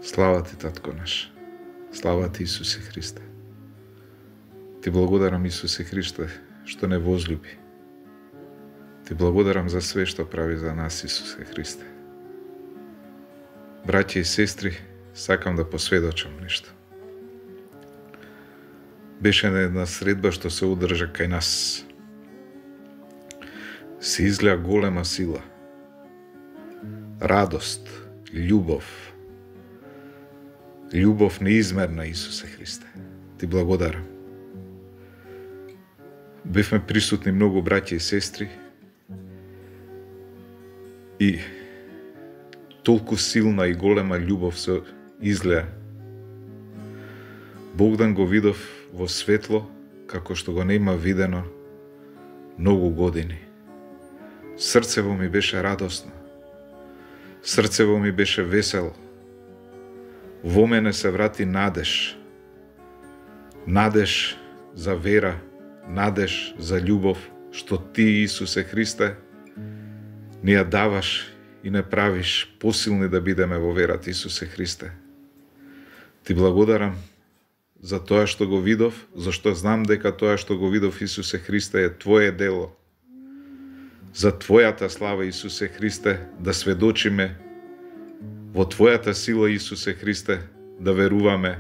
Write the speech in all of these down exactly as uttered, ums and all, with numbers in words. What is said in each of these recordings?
Слава ти, Татко наш. Слава ти, Исусе Христе. Ти благодарам, Исусе Христе, што не возлюби. Ти благодарам за све што прави за нас, Исусе Христе. Браќа и сестри, сакам да посведочам нешто. Беше една средба што се одржа кај нас. Се изгледа голема сила, радост, љубов, љубов неизмерна, Исусе Христе. Ти благодарам. Бевме присутни многу браќа и сестри и толку силна и голема љубов се излеа. Богдан го видов во светло како што го нема видено многу години. Срцево ми беше радосно. Срцево ми беше весело. Во мене се врати надеж. Надеж за вера, надеж за љубов, што ти, Исусе Христе, ни ја даваш и не правиш посилни да бидеме во верата, Исусе Христе. Ти благодарам за тоа што го видов, зашто знам дека тоа што го видов, Исусе Христе, е Твое дело. За Твојата слава, Исусе Христе, да сведочиме во Твојата сила, Исусе Христе, да веруваме.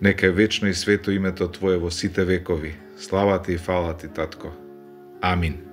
Нека е вечно и свето името Твое во сите векови. Слава Ти и фала Ти, Татко. Амин.